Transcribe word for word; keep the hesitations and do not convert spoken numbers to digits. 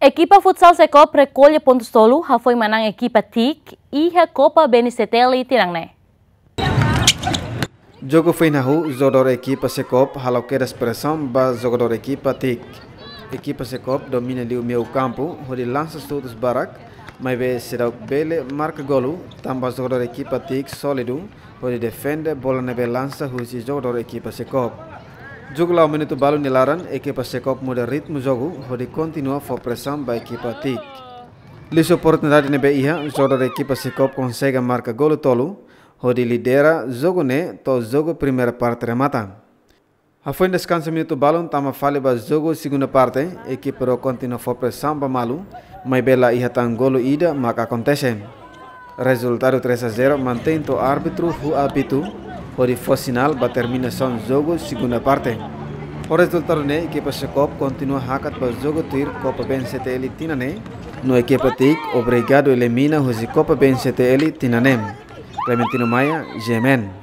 Ekipa futsal Sekop rekolla pontus tolu hafoin manán ekipa TIC iha Copa B N C T L tinan ne'e. Jogu foin hahú, jogadór ekipa Sekop halo kedas presaun ba jogadór ekipa TIC. Ekipa Sekop domina liu meiu kampu, hodi lansa xutus barak, maibé seidauk bele marka golu, tanba jogadór ekipa TIC sólidu, hodi defende bola ne'ebé lansa husi jogadór ekipa Sekop. Jogu la'o minutu balu nia laran, ekipa Sekop muda ritmu jogu, hodi kontinua fó presaun ba ekipa TIC. Liuhusi oportunidade ne'ebé iha, jogadór ekipa Sekop konsege marka golu tolu, hodi lidera jogu ne'e to'o jogu primeira parte remata. Hafoin deskansa minutu balun tama fali ba jogu segunda parte, ekipa rua kontinua fó presaun ba malu, maibé la iha tan golu ida mak akontese. Rezultadu três a zero mantein to'o árbitru huu apitu, hodi fó sinál ba terminasaun jogu segunda parte. Ho rezultadu ne'e, ekipa Sekop kontinua hakat ba jogu tuir Copa B N C T L tinan ne'e, no ekipa TIC obrigadu elimina husi Copa B N C T L tinan ne'e. Clementino Maia, G M N.